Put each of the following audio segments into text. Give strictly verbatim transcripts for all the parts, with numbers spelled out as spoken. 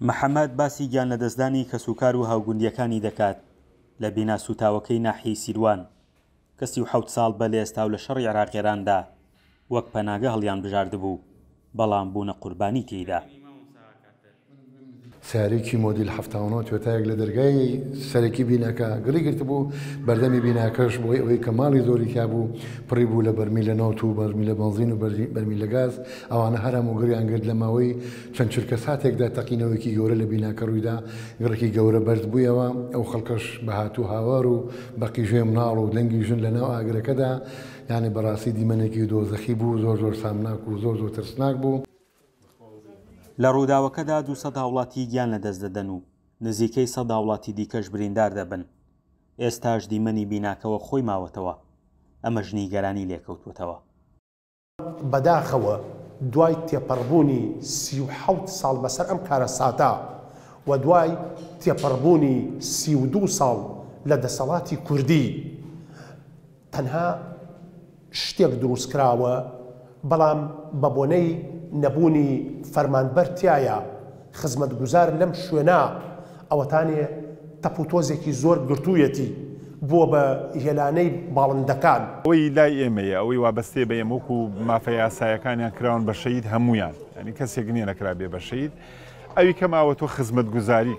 محەممەد باسی گیانلەدەستدانی کەسوکار و هاوگوندییەکانی دەکات لە بینا سووتاوەکەی ناحیەی سیروان کە سی و حەوت ساڵ بەر لە ئێستا و لە شەڕی عێراق-ئێراندا وەک پەناگە هەڵیانبژاردبوو، بەڵام بوونە قوربانی تێیدا. سەیارەیەکی مۆدیل حەفتا و نۆ تۆیۆتایەک لە دەرگای سەرەکی بیناکە گڕی گرتبوو، بەردەمی بیناکەش بۆی ئەوەی کە ماڵی زۆری تیا بوو پڕی بوو لە بەرمیل لە نەوت و بەرمیل لە بەنزین و بەرمیل لە گاز، ئەوانە هەر هەموو گڕیان گرت. لە ماوەی چەند چرکە ساتێکدا تەقینەوەیەکی گەورە لە بیناکە ڕوویدا، گڕێکی گەورە بەرز بوویەوە، ئەو خەڵکەش بە هاتوو هاوار و بە قیژەی مناڵ و دەنگی ژن لە ناو ئاگرەکەدا، یانی بەڕاستی دیمەنێکی دۆزەخی بوو، زۆر زۆر سامناک و زۆر زۆر ترسناک بوو. لە ڕووداوەکەدا دوو سەد هاوڵاتی گیان لەدەست دەدەن و نزیکەی سەد هاوڵاتی دیکەش بریندار دەبن، ئێستاش دیمەنی بیناکەوە خۆی ماوەتەوە، ئەمەش نیگەرانی لێکەوتووەتەوە. بەداخەوە دوای تێپەڕبوونی سی و حەوت ساڵ بەسەر ئەم کارەساتە و دوای تێپەڕبوونی سی و دوو ساڵ لە دەسەڵاتی کوردی تەنها شتێک دروستکراوە، بەڵام بە بۆنەی نەبوونی فەرمانبەر تایە خزمەتگوزار لەم شوێنە ئەوەتانێ تەپ و تۆزێکی زۆر گرتوویەتی بووە بە هێلانەی باڵندەکان. ئەوەی لای ئێمەیە، ئەوەی وابەستەیە بە ئێمە وەکو مافە یاسایەکانیان کراون بە شەهید هەمویان، یعنی کەسێک نییە نەکرابێ بە شەهید. ئەوی کە ماوەتەوە خزمەتگوزاری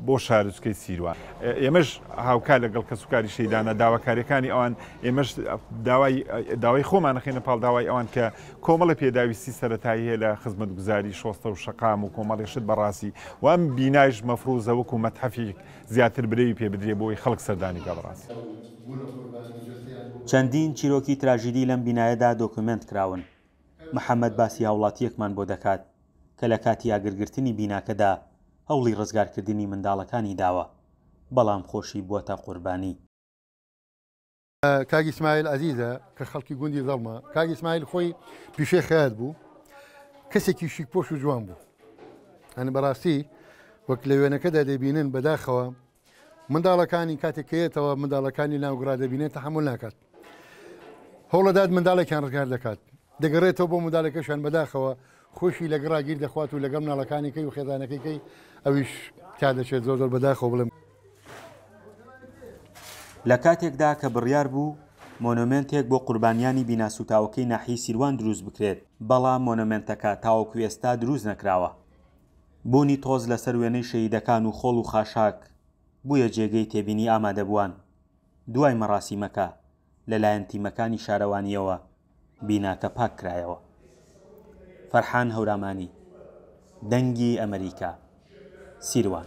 بۆ شارۆچکەی سیروان. ئێمەش هاوکار لەگەڵ کەسوکاری شەهیدانە داواکاریەکانی ئەوان، ئێمەش داوای خۆمان نەخەینە پاڵ داوای ئەوان کە کۆمەڵە پێداویستی سەتایی هەیە لە خزمەتگوزاری شۆستە و شەقام و کۆمەڵی شت بەڕاستی، وام بینایش مەفروزە وەکو مەتحەفێک زیاتر برەوی پێ بدرێ بۆی خەڵک سەردانی کە بەڕاستی. چەندین چیرۆکی تراژیدی لەم بینایەدا دۆکیومێنت کراون. محەممەد باسی هاوڵاتیەکمان بۆ دەکات کە لە کاتی ئاگرگرتنی بیناکەدا هەوڵی ڕزگارکردنی منداڵەکانی داوە، بەڵام خۆشی بووەتە قوربانی. کاک ئیسماعیل عەزیزە کە خەڵکی گوندی زەڵمە، کاک ئیسماعیل خۆی پیشەی خەیات بوو، کەسێکی شیکپۆش و جوان بوو. ئەنی بەڕاستی وەک لە وێنەکەدا دەبینن بەداخەوە منداڵەکانی کاتێک کەیەتەوە منداڵەکانی ناوگڕا دەبینێت تەحەمول ناکات، هەوڵەدات منداڵێکیان ڕزگار دەکات، دەگەڕێتەوە بۆ منداڵەکەشیان بەداخەوە خۆشی لە گڕا گیر دەخوات و لەگەڵ مناڵەکانی کەی و خێزانەکەی کەی ئەویش تا دەچێت. زۆر زۆر بەداخەوە بڵێم. لە کاتێکدا کە بڕیار بوو مۆنۆمێنتێک بۆ قوربانیانی بیناسووتاوەکەی ناحیەی سیروان دروست بکرێت، بەڵام مۆنۆمێنتەکە تاوەکو ئێستا دروست نەکراوە. بوونی تۆز لەسەر وێنەی شەهیدەکان و خۆڵ و خاشاک بوویە جێگەی تێبینی ئامادەبووان. دوای مەراسیمەکە لەلایەن تیمەکانی شارەوانیەوە بیناکە پاک کرایەوە. فەرحان هەورامانی، دەنگی ئەمریکا، سیروان.